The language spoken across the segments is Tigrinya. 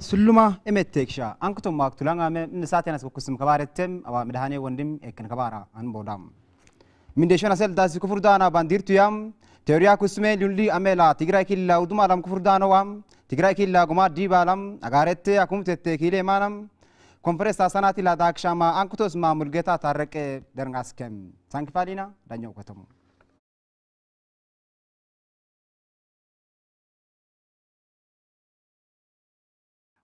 ስሉማ ኤመቴክሻ አንክቶም ማክቱላንጋመ ንሳቴናስ ኩስም ከባረተም አዋ ምድሃኔ ወንድም ኤክን ከባራ አንቦዳም። ሚንዴሾን አሰልዳሲ ክፉርዳና ባንዲርቱያም ቴሪያ ኩስሜ ሉሊ አሜላ ትግራይ ኪላ ውዱማላም ክፉርዳነዋም ትግራይ ኪላ ጉማ ዲባላም አጋረቴ አኩምቴቴ ኪሌ ማናም ኮንፈረንስ አሳናቲላ ዳክሻማ አንክቶስማ ሙልጌታ ታረቀ ደርንጋስከም ሳንክፋሊና ዳኛው ከተሙ።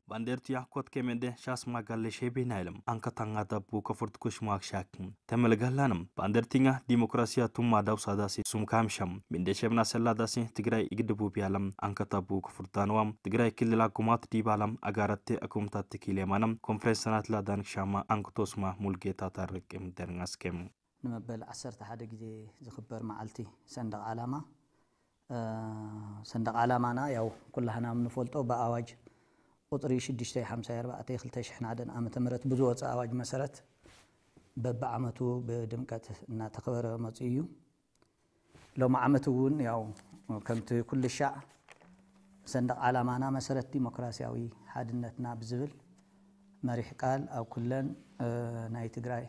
ባንዴርትያ ኮት ኬሜንደ ሻስ ማጋለ ሼቤና ኢለም አንከታንጋ ዳቡ ከፍርት ኩሽ ማክሻክ ተመልጋላንም ባንዴርቲንጋ ዲሞክራሲያ ቱማ ዳውሳዳሲ ሱም ካምሻም ሚንደ ሸብና ሰላዳሲ ትግራይ ይግድቡ ቢያለም አንከታቡ ከፍርታንዋም ትግራይ ክልላ ኩማት ዲባላም አጋረቴ አኩምታት ትኪል የማነም ኮንፈረንስ ሰናት ላዳንክ ሻማ አንክቶስማ ሙልጌታ ታረቅም ደርንጋስከም። ንመበል ዓሰርተ ሓደ ግዜ ዝኽበር መዓልቲ ሰንደቕ ዓላማ። ሰንደቕ ዓላማና ያው ኩላህና የምንፈልጦ ብኣዋጅ ቁፅሪ ሽዱሽተ ሓምሳ ኣርባዕተ ክልተ ሽሕን ሓደን ዓመተ ምህረት ብዝወፀ ኣዋጅ መሰረት በብዓመቱ ብድምቀት እናተኸበረ መፅኡ እዩ። ሎም ዓመት እውን ያው ከምቲ ኩሉ ሻዕ ሰንደቕ ዓላማና መሰረት ዲሞክራሲያዊ ሓድነትና ብዝብል መሪሕ ቃል ኣብ ኩለን ናይ ትግራይ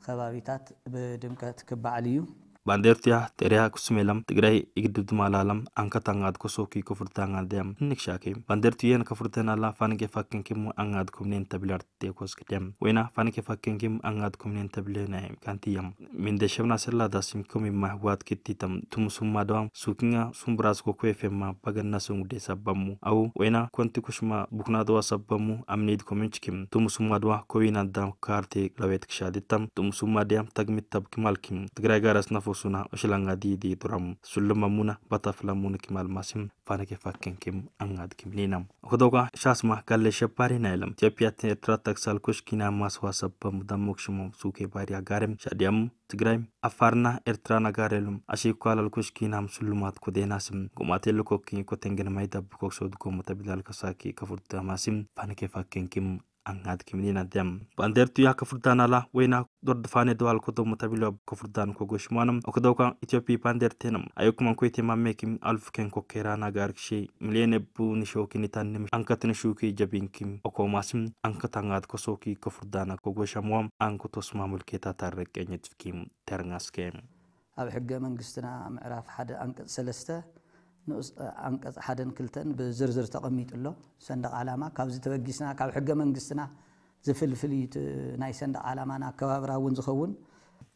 ከባቢታት ብድምቀት ክበዓል እዩ። ባንዴርትያ ጤርያ ኩስሜለም ትግራይ ይግድብ ድማላለም አንከታንጋት ኮሶኪ ኮፍርታንጋ ደም እንክሻኪ ባንዴርትየን ከፍርተናላ ፋንጌ ፋክንኪሙ አንጋት ኮምኔን ተብለር ቴኮስ ክደም ወይና ፋንጌ ፋክንኪም አንጋት ኮምኔን ተብለ ናይ ካንትየም ሚንደ ሸብና ሰላ ዳሲም ኮሚ ማህዋት ክትቲተም ቱምሱማ ደዋም ሱክኛ ሱምብራስ ኮኮ ኤፍኤማ ባገና ሰንጉዴ ሰባሙ አው ወይና ኮንቲ ኩሽማ ቡክና ደዋ ሰባሙ አምኔድ ኮሜንችኪም ቱምሱማ ደዋ ኮዊና ዳም ካርቴ ለቤት ክሻዲተም ቱምሱማ ዲያም ተግሚት ተብኪ ማልኪም ትግራይ ጋር አስነፎሱና እሽላንጋ ዲዲ ዱራም ሱልመሙና ባታፍላሙን ኪማል ማሲም ፋነኬ ፋኬንኪም አንጋድኪም ኔና። ኦክዶጋ ሻስማ ጋለ ሸባሪ ናይለም ኢትዮጵያ ኤርትራ ተክሳል ኩሽኪና ማስዋ ሰበሙ ዳሞክሽሞ ሱኬ ባሪያ ጋርም ሻዲያም ትግራይ አፋርና ኤርትራ ነጋሬሉም አሺኳላል ኩሽኪናም ስሉማት ኮዴናስም ጉማቴ ልኮኪ ኮቴንገን ማይዳብ ኮክሶ ድጎሞ ተቢላል ከሳኪ ከፉርተ ማሲም ፋነኬ ፋኬንኪም አንጋድኪም ኔና ደም ባንዴርቱ ያ ከፉርዳናላ ወይና ዶርድፋኔ ደዋል ኮዶሞ ተቢሎ ከፉርዳን ኮጎሽማንም ኦክዶጋ ኢትዮጵያ ባንዴርቴንም አዮኩማን ኮይቴ ማሜኪም አልፍኬን ኮኬራ ናጋር ክሼ ሚሊየን ቡ ንሾኪ ኒታንም አንከትን ሹኪ ጀቢንኪም ኦኮማስም አንከታንጋት ኮሶኪ ከፉርዳና ኮጎሻምዋም አንኮቶስማ ሙልኬታ ታረቀኝ ትፍኪም ተርናስኬ። ኣብ ሕገ መንግስትና ምዕራፍ ሓደ ኣንቀጽ ሰለስተ ንኡስ ኣንቀጽ ሓደን ክልተን ብዝርዝር ተቐሚጡ ኣሎ። ሰንደቕ ዓላማ ካብዚ ተበጊስና ካብ ሕገ መንግስትና ዝፍልፍል እዩ እቲ ናይ ሰንደቕ ዓላማና ኣከባብራ እውን ዝኸውን።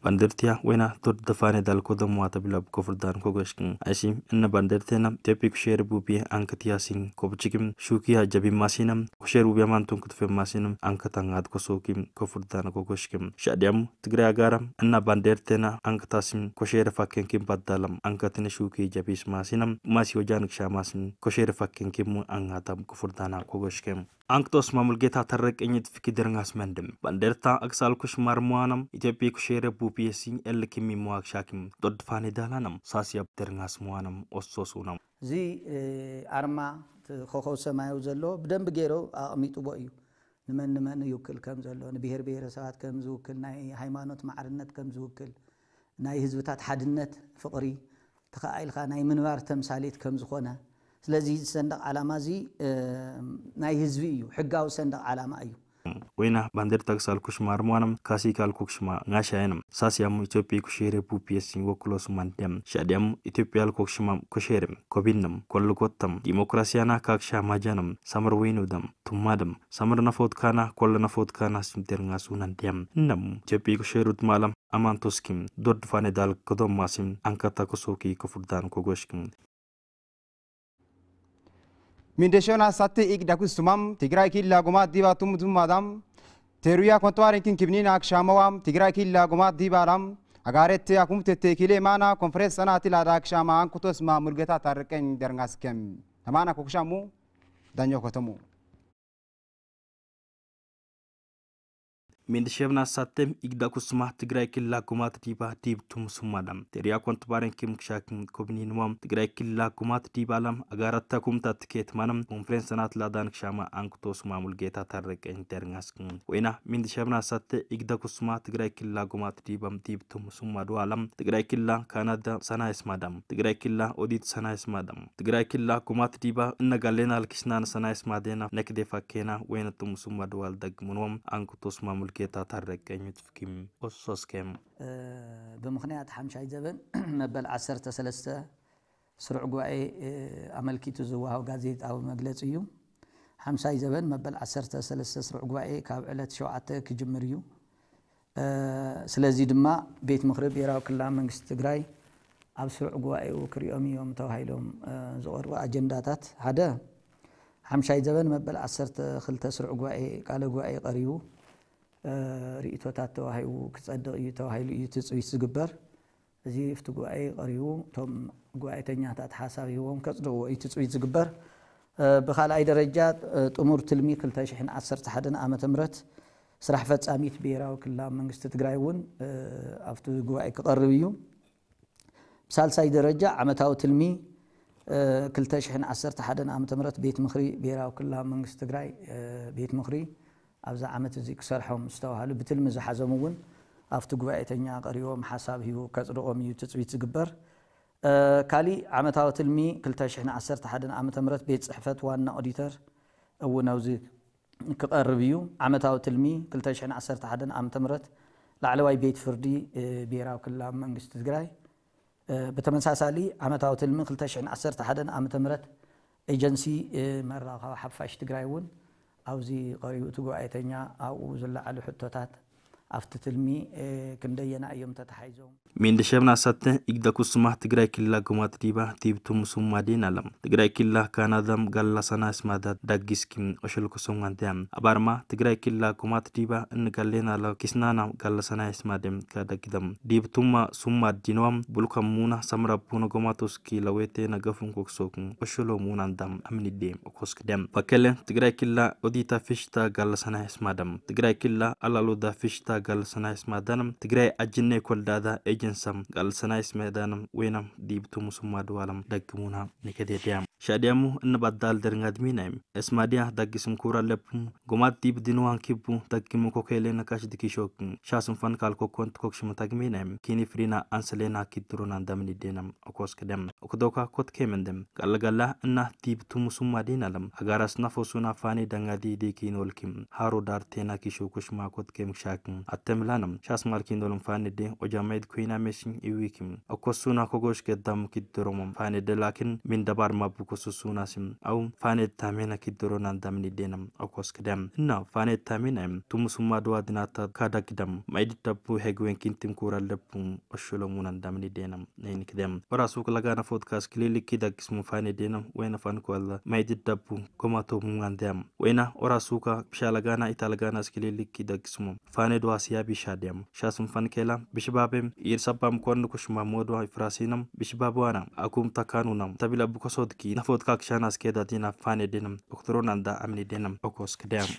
ባንደርትያ ወይና ቶድ ደፋኔ ዳልኮ ደሞ ተብላ ኮፍርዳን ኮጎሽክን አይሲ እነ ባንደርቴና ኢትዮጵያ ኩሼር ቡቢ አንክትያሲን ኮብችግም ሹኪያ ጀቢ ማሲነም ኩሼር ቡቢ አማንቱን ክትፈ ማሲነም አንከታንጋት ኮሶኪም ኮፍርዳን ኮጎሽክም ሻዲያም ትግራይ አጋራም እና ባንዴርቴና አንከታሲም ኮሼር ፋኬንኪም ባዳለም አንከትን ሹኪ ጀቢስ ማሲነም ማሲ ወጃንክ ሻማሲም ኮሼር ፋኬንኪም አንጋታም ኮፍርዳና ኮጎሽክም። አንክቶስ ማሙልጌታ ተረቀኝት ፍኪ ድርንጋስ መንድም ባንዴርታ አክሳልኩሽ ማርሙዋነም ኢትዮጵያ ኩሼረ ቡፒኤሲ ኤልኪሚ መዋግሻኪም ዶድፋኔ ዳላነም ሳስያብ ድርንጋስ ሙዋነም ኦሶሱነም። እዚ ኣርማ እቲ ኮኸብ ሰማያዊ ዘለዎ ብደንብ ገይሩ ኣቕሚጥዎ እዩ። ንመን ንመን ይውክል ከም ዘሎ፣ ንብሔር ብሔረሰባት ከም ዝውክል፣ ናይ ሃይማኖት ማዕርነት ከም ዝውክል፣ ናይ ህዝብታት ሓድነት፣ ፍቕሪ፣ ተኸኣኢልካ ናይ ምንባር ተምሳሌት ከም ዝኾነ። ስለዚ እዚ ሰንደቕ ዓላማ እዚ ናይ ህዝቢ እዩ፣ ሕጋዊ ሰንደቕ ዓላማ እዩ። ወይና ባንዴር ታክሳል ኩሽማ ርሟንም ካሲካል ኩክሽማ ጋሻየንም ሳስያሙ ኢትዮጵያ ኩሼሬ ቡፒየሲን ወክሎ ሱማን ደም ሻዲያሙ ኢትዮጵያ ልኮክሽማ ኩሼሬም ኮቢንም ኮልጎተም ዲሞክራሲያና ካክሻ ማጃንም ሳምር ወይኑ ደም ቱማደም ሳምር ነፎትካና ኮለ ነፎትካና ሲምቴርንጋ ሱናን ደም እነሙ ኢትዮጵያ ኩሼሩት ማለም አማንቶስኪም ዶድፋኔ ዳል ከዶማሲም አንካታ ኮሶኪ ኮፉርዳን ኮጎሽክም። ሚንደሾና ሳቲ ኢግ ዳኩስቱማም ትግራይ ኪላ ጎማ ዲባ ቱምቱማዳም ቴሩያ ኮንትዋሪንኪን ኪብኒና አክሻመዋም ትግራይ ኪላ ጎማ ዲባላም አጋሬቴ አኩምቴቴ ኪሌ ማና ኮንፈረንስ ሰናቲ ላዳ አክሻማ አንኩቶስማ ሙልገታ ታርቀኝ ደርንጋስከም ተማና ኮክሻሙ ዳኛው ከተሙ። Mindishevna satte igda kusma Tigray killa kumat diba dib tum sumada. Teria kontbaren kim kshakin kobni nuam Tigray killa kumat diba lam agarata kumta tiket manam konferensanat ladan kshama ankuto suma Mulgeta Tarrek intergaskin. Wena Mindishevna satte igda kusma Tigray killa kumat dibam dib tum sumadu alam Tigray killa Kanada sana ismadam. Tigray killa odit sana ismadam. Tigray ክላ ኩማት ዲባ እነጋሌና ልኪስናን ሰናይስ ማዴና ነክዴፋ ኬና ወይነቱም ሱማ ድዋል ደግሙንዎም አንኩቶስማ ሙልጌታ ታረቀኝ ትፍኪም ኦሶስኬም። ብምኽንያት ሓምሻይ ዘበን መበል ዓሰርተ ሰለስተ ስሩዕ ጉባኤ ኣመልኪቱ ዝወሃብ ጋዜጣዊ መግለጺ እዩ። ሓምሻይ ዘበን መበል ዓሰርተ ሰለስተ ስሩዕ ጉባኤ ካብ ዕለት ሸውዓተ ክጅምር እዩ። ስለዚ ድማ ቤት ምኽሪ ብሄራዊ ክልላዊ መንግስቲ ትግራይ ኣብ ስሩዕ ጉባኤኡ ክሪኦም እዮም ተባሂሎም ዝቐርቡ ኣጀንዳታት ሓደ ሓምሻይ ዘበን መበል ዓሰርተ ክልተ ስሩዕ ጉባኤ ቃለ ጉባኤ ቀሪቡ ርእቶታት ተዋሂቡ ክፀድቕ እዩ ተባሂሉ እዩ ትፅቢት ዝግበር። እዚ ኣብቲ ጉባኤ ቀሪቡ እቶም ጉባኤተኛታት ሓሳብ ሂቦም ከፅድቕዎ እዩ ትፅቢት ዝግበር። ብካልኣይ ደረጃ ጥሙር ትልሚ ክልተ ሽሕን ዓሰርተ ሓደን ዓመተ ምህረት ስራሕ ፈጻሚት ብሄራዊ ክልላዊ መንግስቲ ትግራይ እውን ኣብቲ ጉባኤ ክቐርብ እዩ። ብሳልሳይ ደረጃ ዓመታዊ ትልሚ ክልተ ሽሕን ዓሰርተ ሓደን ዓመተ ምህረት ቤት ምኽሪ ብሄራዊ ክልላዊ መንግስቲ ትግራይ ቤት ምኽሪ ኣብዚ ዓመት እዚ ክሰርሖም ዝተባሃሉ ብትልሚ ዝሓዞም እውን ኣብቲ ጉባኤተኛ ቀሪቦም ሓሳብ ሂቡ ከፅድቖም እዩ ትፅቢት ዝግበር። ካሊእ ዓመታዊ ትልሚ ክልተ ሽሕን ዓሰርተ ሓደን ዓመተ ምህረት ቤት ፅሕፈት ዋና ኦዲተር እውን ኣብዚ ክቐርብ እዩ። ዓመታዊ ትልሚ ክልተ ሽሕን ዓሰርተ ሓደን ዓመተ ምህረት ላዕለዋይ ቤት ፍርዲ ብሄራዊ ክልላዊ መንግስቲ ትግራይ ብተመሳሳሊ ዓመታዊ ትልሚ ክልተ ሽሕን ዓሰርተ ሓደን ዓመተ ምህረት ኤጀንሲ መራኸቢ ሓፋሽ ትግራይ እውን ኣብዚ ቀሪቡ እቲ ጉባኤተኛ ኣብኡ ዝለዓሉ ሕቶታት ኣብቲ ትልሚ ክንደየና እዮም ተተሓይዞም። ሜንደሸብና ሳተ ኢግዳኩስማ ትግራይ ክልላ ጎማት ዲባ ቲብቱም ሱማዴን ኣለም ትግራይ ክልላ ካናዳም ጋላሳና ስማዳት ዳጊስኪም ኦሸልኮሶም ዋንቲያ ኣባርማ ትግራይ ክልላ ጎማት ዲባ እንጋሌና ለ ኪስናና ጋላሳና ስማዴም ካዳጊደም ዲብቱማ ሱማ ዲኖም ቡልካም ሙና ሰምራ ቡነ ጎማቶስኪ ለዌቴ ነገፉን ኮክሶኩ ኦሸሎ ሙና እንዳም ኣምኒዴ ኦኮስክ ደም ፈከለ ትግራይ ክልላ ኦዲታ ፊሽታ ጋላሳና ስማደም ትግራይ ክልላ ኣላሎዳ ፊሽታ ጋላሳና ስማዳንም ትግራይ ኣጅነ ኮልዳዳ ኤጀንሳም ጋላሳና ስማዳንም ወይናም ዲብቱ ሙሱማ ድዋለም ደግሙና ንከዴድያ ሻዲያሙ እንባዳል ደርንጋድሚናይም እስማዲያ ዳጊስም ኩራ ለብም ጎማት ዲብ ድንዋን ኪቡ ዳጊሙ ኮኬሌ ነካሽ ድኪሾክ ሻስም ፈንካል ኮኮንት ኮክሽም ታግሚናይም ኪኒ ፍሪና ኣንሰሌና ኪድሮና እንዳምኒ ዴናም ኦኮስክ ደም ኦክዶካ ኮትኬ መንደም ጋለጋላ እና ዲብ ቱሙሱማ ዴናለም ኣጋራስ ናፎሱና ፋኔ ዳንጋዲ ዴኪኖልኪም ሃሮ ዳርቴና ኪሾ ኮሽማ ኮትኬ ምክሻክም ኣተምላንም ሻስ ማልኪኖልም ፋኔ ዴ ኦጃማይድ ኮይና ሜሽን ኢዊኪም ኦኮሱና ኮጎሽ ገዳም ኪድሮሞም ፋኔ ደላኪን ሚን ደባር ማቡ ኮሱሱና ሲም ኣው ፋኔ ታሜና ኪድሮና እንዳምኒ ዴናም ኦኮስክ ደም እና ፋኔ ታሜና ቱሙሱማ ድዋ ድናታ ካዳኪደም ማይድ ደቡ ሄግዌን ኪንቲም ኩራ ለቡ ኦሽሎሙና እንዳምኒ ዴናም ነይንክደም ኦራሱ ክለጋና ፎትካስ ክሊሊክ ኪዳጊስሙ ፋኔ ዴናም ወይነ ፋንኮላ ማይድ ደቡ ጎማቶ ሙንጋንደም ወይና ኦራሱካ ብሻለጋና ኢታለጋና ስክሊሊክ ኪዳጊስሙ ፋኔ ድዋ ሲያቢ ሻድያም ሻስም ፋንኬላ ብሽባቤም ኢር ሰባም ኮርን ኩሽማ ሞድዋ ፍራሲናም ብሽባብዋና ኣኩም ታካኑናም ተቢላ ብኮሶድኪ ነፎትካ ክሻና ስኬዳቲና ፋኔ ዴናም ኦክትሮና እንዳ ኣምኒ ዴናም ኦኮስክ ደም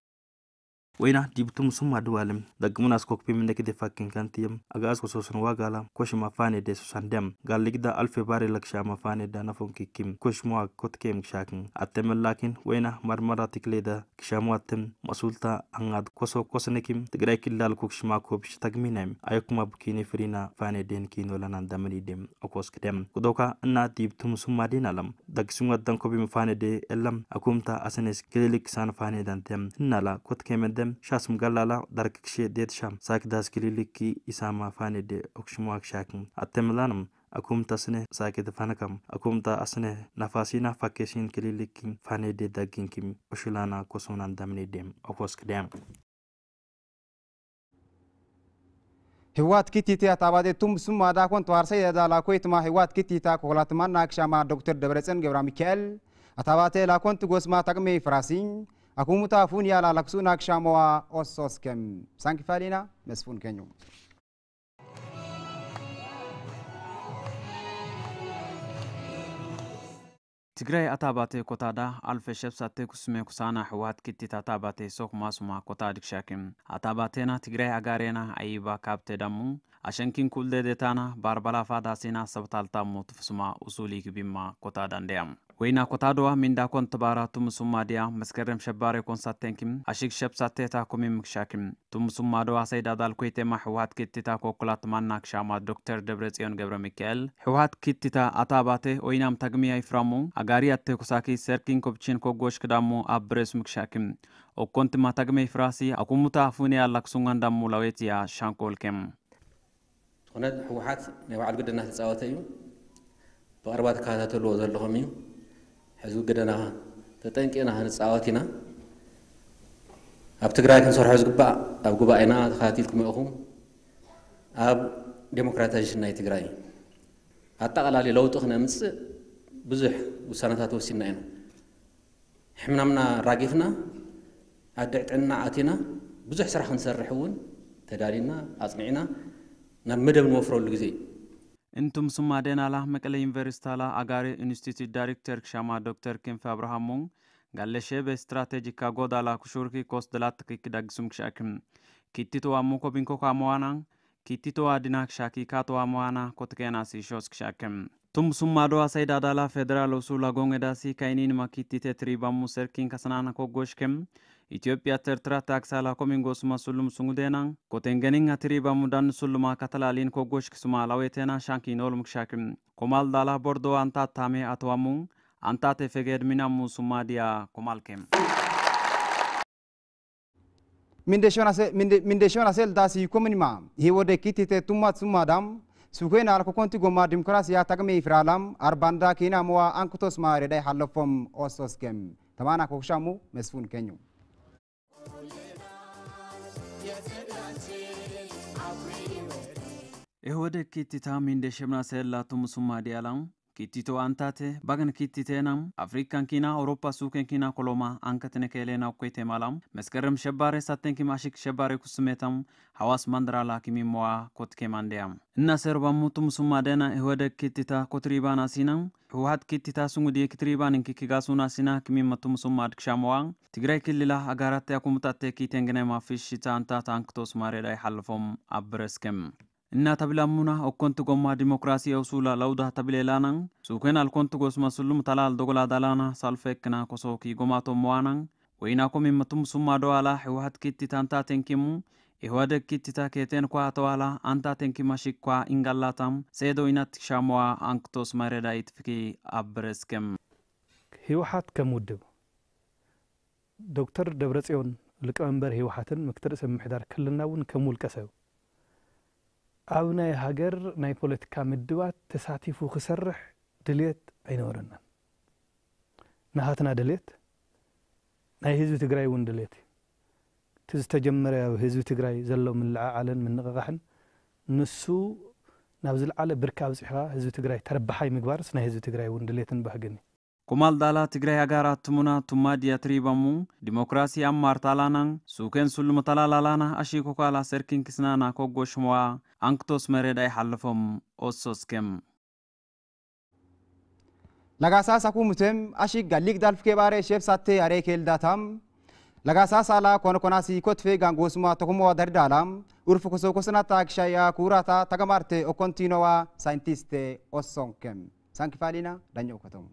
ወይና ዲብቱም ሱማ ድዋልም ደግሙና ስኮክፒ ምንደክ ደፋክን ከንትየም ኣጋዝ ኮሶስን ዋጋላ ኮሽማ ፋኔ ዴ ሱሳን ደም ጋል ሊግዳ ኣልፌ ባሬ ለክሻማ ፋኔ ዳ ነፎን ኪኪም ኮሽማ ኮትኬም ክሻክን ኣተመላኪን ወይና መርመራ ትክሌዳ ክሻሙ ኣተም መሱልታ ኣንጋድ ኮሶ ኮስነኪም ትግራይ ክልል ኮክሽማ ኮብሽ ተግሚናይም ኣየኩማ ቡኪኒ ፍሪና ፋኔ ዴን ኪኖ ለናን ዳመኒ ደም ኦኮስክ ደም ኩዶካ እና ዲብቱም ሱማ ዴን ኣለም ዳግስም ወዳን ኮቢ ምፋነ ዴ ኤለም ኣኩምታ ኣሰኔስ ክሊሊክ ሳን ፋኔ ዳንቴም እናላ ኮትኬ መደም ሻስም ጋላላ ዳርክ ክሼ ዴትሻም ሳክዳስ ክሊሊክ ኢሳማ ፋኔ ዴ ኦክሽሞ ኣክሻክም ኣተምላንም ኣኩምታ ስነ ሳኬ ተፋነካም ኣኩምታ ኣስነ ናፋሲና ፋኬሲን ክሊሊክ ፋኔ ዴ ዳጊንኪም ኦሽላና ኮሶናን ዳምኔ ዴም ኦኮስክ ደም ህወሓት ኪቲቲ ኣታባቴ ቱም ስማ ዳኮን ተዋርሰይ ዳላ ኮይትማ ህወሓት ኪቲታ ኮላትማና ክሻማ ዶክተር ደብረፅዮን ገብረ ሚካኤል ኣታባቴ ላኮን ትጎስማ ታቅሜ ፍራሲ ኣኩሙታ ፉን ያላ ላክሱና ክሻመዋ ኦሶስከም ሳንኪፋሊና መስፉን ከኙ ትግራይ ኣታባቴ ኮታዳ ኣልፈ ሸብሳቴ ኩስሜ ኩሳና ህወሓት ኪቲት ኣታባቴ ሶክ ማሱማ ኮታ ድክሻኪም ኣታባቴና ትግራይ ኣጋሬና ኣይባ ካብቴ ዳሙ ኣሸንኪን ኩልደ ዴታና ባርባላፋ ዳሲና ሰብታልታሙ ትፍስማ ኡሱሊ ግቢማ ኮታ ዳንደያም ወይና ኮታዶዋ ሚንዳ ኮን ትባራ ቱምሱማ ድያ መስከረም ሸባሬ ኮንሳቴንኪም ኣሽግ ሸብሳቴታ ኩሚም ምክሻኪም ቱምሱማ ዶዋ ሰይዳ ዳልኮይቴማ ህወሓት ኪቲታ ኮኩላት ማና ክሻማ ዶክተር ደብረጽዮን ገብረ ሚካኤል ህወሓት ኪቲታ ኣታባቴ ኦይናም ታግሚያ ይፍራሙ ኣጋሪ ኣቴኩሳኪ ሰርኪን ኮብቺን ኮጎሽ ክዳሙ ኣብ ብሬስ ምክሻኪም ኦኮንትማ ታግመ ይፍራሲ ኣኩሙታ ኣፉንያ ላክሱንጋን ዳሙ ላዌትያ ሻንኮልኬም ዝኾነ ህወሓት ናይ ባዕሉ ግደ እናተፃወተ እዩ። ብቐረባ ትከታተልዎ ዘለኹም እዩ። ሕዚ ግደና ተጠንቂቕና ክንፃወት ኢና። ኣብ ትግራይ ክንሰርሖ ዝግባእ ኣብ ጉባኤና ተኸታቲልኩም ኢኹም። ኣብ ዴሞክራታይዜሽን ናይ ትግራይ ኣጠቓላሊ ለውጢ ክነምፅእ ብዙሕ ውሳነታት ወሲንና ኢና። ሕምናምና ራጊፍና ኣድዕ ጥዕና ኣቲና ብዙሕ ስራሕ ክንሰርሕ እውን ተዳሊና ኣፅኒዕና ናብ መደብ ንወፍረሉ ግዜ እዩ። እንቱም ሱማ ደናላ መቀለ ዩኒቨርሲታላ ኣጋሪ ኢንስቲትዩት ዳይሬክተር ክሻማ ዶክተር ክንፈ ኣብርሃሙ ጋለሸበ ስትራቴጂካ ጎዳላ ኩሹርኪ ኮስ ደላት ክዳግሱም ክሻክም ኪቲቶ ኣሙኮ ቢንኮ ካመዋና ኪቲቶ ኣዲና ክሻኪ ካቶ ኣመዋና ኮትኬና ሲሾስ ክሻክም ቱም ሱማ ዶ ኣሳይዳ ዳላ ፌደራል ሱላ ጎንገዳሲ ካይኒን ማኪቲቴ ትሪባሙ ሰርኪን ከሰናና ኮጎሽክም ኢትዮጵያ ተርትራ ታክሳላ ኮሚንጎስ ማሱሉም ሱንጉዴና ኮቴንገኒን ኣትሪባሙ ዳን ሱሉማ ካተላሊን ኮጎሽክ ሱማ ላዌቴና ሻንኪ ኖልም ክሻክም ኮማል ዳላ ቦርዶ ኣንታ ታሜ ኣተዋሙ ኣንታ ቴፌጌድ ሚናሙ ሱማ ዲያ ኮማልክም Mindeshona sel dasi komunima hiwode kitite tummat summadam sukwena alkokonti goma dimokrasiya takme ifralam arbanda kina mowa ankutos ma reday halofom ososkem tamana kokshamu mesfun kenyu. Ehwede kittita mindeshemna seella tumusumma diyala Kittito antate bagan kittitena Afrikan kina Europa suken kina koloma ankatenekelena ukwete malam meskerem shebare satenkim ashik shebare kusumetam hawas mandrala kimimoa kotke mandea. Inna serba mutum summa dena ehwede kittita kotribana sina huhat kittita sungudi kitribanin kikigasuna sina kimima tum summa dkshamoa Tigray kilila agarate akumutatte kitengnema fishita antata anktos maredai halfom abreskem. Inna tabilamuna okkonti gomma dimokirasi ew suula lawda tabileelana suuken alkonti gosma sullum talaal dogola dalana salfekna kosoki gomato moana wayna komi matum summa doala hiwahat kitti tanta tenkimu ihwadeg kitti ta keten kwa tawala anta tenkima shikwa ingalata seedo inat shamoa anktos mareda itfiki abreskem. ህወሓት ከም ውድብ ዶክተር ደብረፅዮን ሊቀመንበር ህወሓትን ምክትል ርእሰ ምምሕዳር ክልልና እውን ከም ውልቀ ሰብ ኣብ ናይ ሃገር ናይ ፖለቲካ ምድባት ተሳቲፉ ክሰርሕ ድልየት ኣይነበረናን። ናሃትና ድልየት ናይ ህዝቢ ትግራይ እውን ድልየት እዩ። እቲ ዝተጀመረ ኣብ ህዝቢ ትግራይ ዘሎ ምልዕዓልን ምንቕቓሕን ንሱ ናብ ዝለዓለ ብርኪ ኣብፂሕኻ ህዝቢ ትግራይ ተረባሓይ ምግባርስ ናይ ህዝቢ ትግራይ እውን ድልየትን ባህግን እዩ። Kumal dala Tigray agara tumuna tumma diya tribamu dimokrasi ammar talana suken sulma talalalana ashi kokala serkin kisnana koggo shmoa anktos mered ay halfom ossoskem. Lagasa saku mutem ashi galik dalf kebare shef satte are kel datam lagasa sala kono konasi kotfe gango suma tokumo dardalam urfu koso kosnata akshaya kurata tagamarte o kontinua scientiste ossonkem. Sankifalina danyo kotom.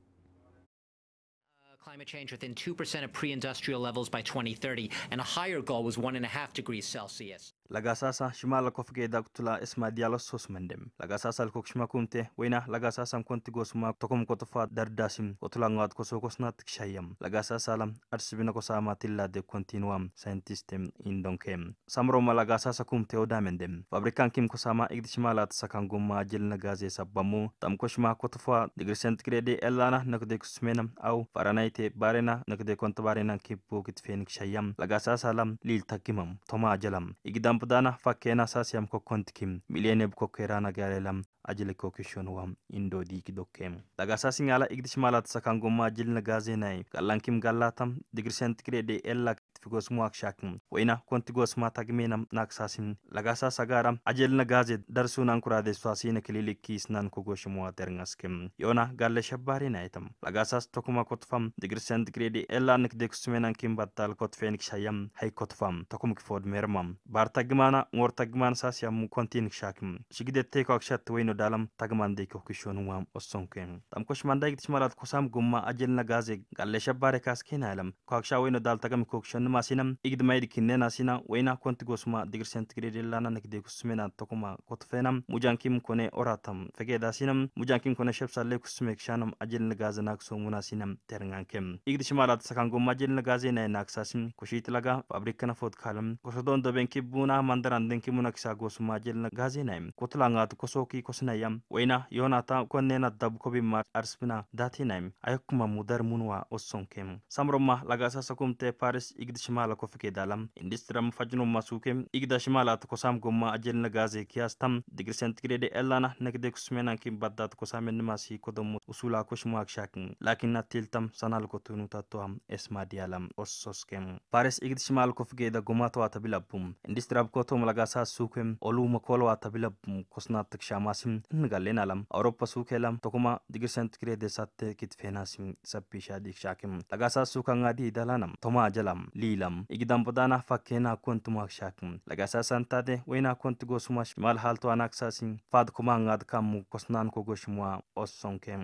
Climate change within two percent of pre-industrial levels by twenty thirty, and a higher goal was one and a half degrees Celsius. Lagasasa shimala kofge daktula esma dialos sos mendem. Lagasasa lkok shima kumte, wena lagasasa konti gosma tokom kotofa dardasim, kotula ngat koso kosna tikshayam. Lagasasa lam arsibina kosama tilla de continuam scientistem indonkem. Samroma lagasasa kumte odamendem. Fabrikan kim kosama igdishmalat sakan gumma jilna gaze sabbamu, tam koshma kotofa digri centigrade elana nakde kusmena au faranayte barena nakde konta barena kippu kitfen kshayam lagasa salam lil takimam toma jalam igdam pdana fakkena sasiyam kokkontikim milyene bkokkera nagarelam ajile kokishonwa indo diki dokkem. Lagasa singala igdishmalat sakan gumma jilna gaze nay gallankim gallatam digri centigrade ella ፊጎስሙዋ ክሻክ ወይና ኮንቲ ጎስማ ታግሜና ናክሳሲም ለጋሳ ሰጋራ አጀልነ ጋዜ ደርሱን አንኩራዴ ሷሲነ ክሊሊክ ኪስናን ኮጎሽሙዋ ደርንጋስክም ዮና ጋለ ሸባሪ ናይተም ለጋሳስ ተኩማ ኮትፋም ዲግሪ ሴንቲግሬድ ኤላ ንክዴ ኩስሜናን ኪምባታል ኮትፌን ክሻያም ሃይ ኮትፋም ተኩም ክፎድ ሜርማም ባር ታግማና ሞር ታግማን ሳሲያም ኮንቲን ክሻክም ሽግደት ተይኳ ክሸት ወይኖ ዳለም ታግማን ደይኮ ክሾንዋም ኦሶንኩ ታምኮሽ ማንዳይ ግትሽማላት ኮሳም ጎማ አጀልነ ጋዜ ጋለ ሸባሪ ካስኬና ያለም ኳክሻ ወይኖ ዳል ተገም ኮክሸን ማሲነም ኢግድ ማይድ ኪኔና ሲና ወይና ኮንቲ ጎስማ ዲግሪ ሴንቲግሬድ የላና ንግዴ ኩስሜና ተኩማ ኮትፌና ሙጃንኪም ኮነ ኦራታም ፈጌዳ ሲነም ሙጃንኪም ኮነ ሸብሳሌ ኩስሜ ክሻኖም አጀል ንጋዘ ናክሶሙና ሲነም ተርንጋንኬም ኢግድ ሽማላት ሰካን ጎማ አጀል ንጋዜ ናይ ናክሳሲም ኩሺት ለጋ ፋብሪክ ከነፎት ካልም ኮሶዶን ደቤንኪ ቡና ማንደራን ደንኪ ሙና ክሳ ጎስማ አጀል ንጋዜ ናይ ኮትላንጋት ኮሶኪ ኮስናያም ወይና ዮናታ ኮኔና ዳብ ኮቢማ አርስብና ዳቴ ናይ አየኩማ ሙደር ሙንዋ ኦሶንኬም ሳምሮማ ለጋሳ ሰኩምተ ፓሪስ ኢግድ ሽማላ ኮፍኬ ዳላም ኢንዱስትሪ መፋጅኖማ ሱኬ ኢግዳ ሽማላ ተኮሳም ጎማ አጀል ነጋዜ ኪያስታም ዲግሪ ሴንቲግሬድ ኤላና ነግዴ ኩስሜናን ኪም ባዳት ኮሳሜን ንማሲ ኮደሙ ኡሱላ ኮሽማ ክሻክ ላኪና ቴልታም ሰናል ኮቱኑ ታቶዋም ኤስማ ዲያላም ኦሶስኬም ፓሪስ ኢግድ ሽማል ኮፍጌ ዳ ጎማተዋ ተቢላቡም ኢንዱስትሪ አብኮቶም ለጋሳ ሱኬም ኦሉ መኮለዋ ተቢላቡም ኮስና ትክሻማሲም እንጋሌን አለም አውሮፓ ሱኬ ላም ተኮማ ዲግሪ ሴንቲግሬድ ሳተ ኪትፌናሲም ሰቢሻ ዲክሻኪም ለጋሳ ሱካ ንጋዲ ዳላናም ቶማ ጀላም ሊላም ኢግዳም ቦዳና ፋኬና ኮንቱ ማክሻክም ለጋሳ ሳንታደ ወይና ኮንቱ ጎሱማ ሽማል ሃልቶ አናክሳሲም ፋድ ኩማ ንጋድ ካሙ ኮስናን ኮጎሽሙዋ ኦሶንኬም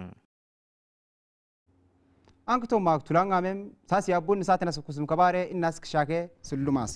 አንክቶ ማክቱላንጋሜም ሳሲ አቡን ንሳተና ስኩስም ከባሬ እናስክሻኬ ስሉማሲ